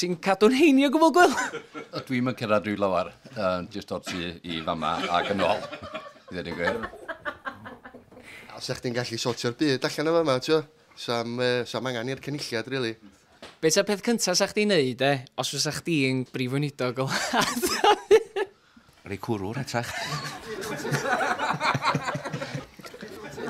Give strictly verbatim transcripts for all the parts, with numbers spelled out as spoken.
Ti'n cadw'n heini o gwbl, Gwil? Dwi'm yn cyrraedd rhyw lawer, uh, jyst o'r tŷ i fama ac yn ôl. I ddweud y gwir. Sa chdi'n gallu sortio'r byd allan o fama, ti'n Sam, uh, sam angen i'r cynulliad, really. Be ta'r peth cyntaf sa chdi'n neud, e, os fysa chdi'n brif weinidog o wlad? Rei cwrw'r etrach.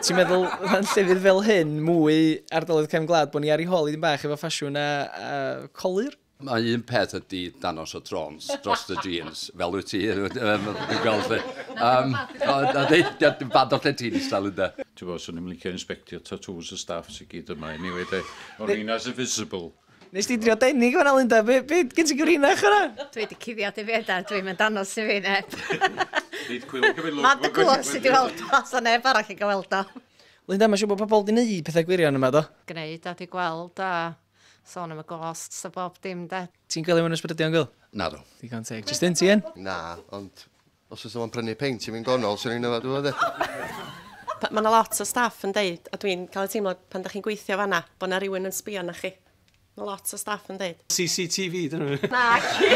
Ti'n meddwl, fan llefydd fel hyn, mwy ardaloedd cefn gwlad, bod ni ar ei hôl i ddim bach efo ffasiwn a, a colur? Mae un peth ydy danos o trons dros y jeans, fel wyt ti, dwi'n gweld lle. Um, Dwi'n bad o lle ti'n eistedd, Linda. Ti'n bod, swn i'n licio inspectio tattoos y staff sy'n gyd yma, anyway, de. O'r un as invisible. Nes ti drio denig fan'na, Linda? Be, be gen ti gyfrinach yna? Dwi wedi cuddiad i fi yda, dwi'n mynd danos i fi neb. Nid cwyl cymryd lwc. Mae'n dy gwrs i di weld o, so neb arall yn gweld o. Linda, mae'n siŵr bod pobl wedi gwneud pethau gwirion yma, do? Gwneud a di gweld a sôn am y ghosts a bob dim, de. Ti'n gweld mewn ysbrydion, Gwil? Na do. Digon teg. Just ti yn? Na, ond os oes o'n prynu peint i fi'n gonol, swn i'n yfad o, de. Mae yna lot o staff yn deud, a dwi'n cael y teimlo pan da chi'n gweithio fanna, bod yna rhywun yn sbio na chi. Mae lot o staff yn deud. C C T V, dyn nhw? Na, ci.